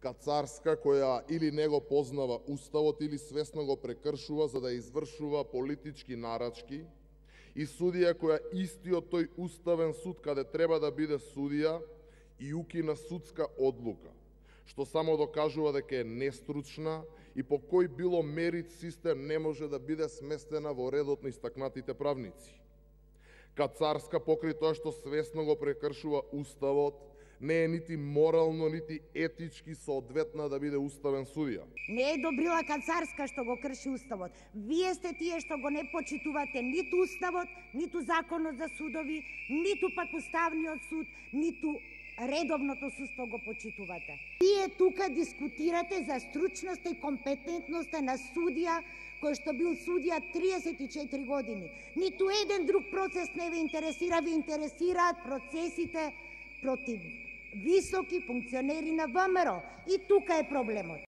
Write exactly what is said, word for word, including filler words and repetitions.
Кацарска која или не го познава уставот или свесно го прекршува за да извршува политички нарачки, и судија која истиот тој уставен суд каде треба да биде судија и укина судска одлука, што само докажува дека е нестручна и по кој било мерит систем не може да биде сместена во редот на истакнатите правници. Кацарска покрај тоа што свесно го прекршува уставот, не е нити морално, нити етички соодветна да биде уставен судија. Не е добрила Кацарска што го крши уставот. Вие сте тие што го не почитувате ниту уставот, ниту законот за судови, ниту пак уставниот суд, ниту редовното судство го почитувате. Вие тука дискутирате за стручноста и компетентноста на судија кој што бил судија триесет и четири години. Ниту еден друг процес не ве интересира, ви интересираат процесите против високи функционери на ВМРО. И тука е проблемот.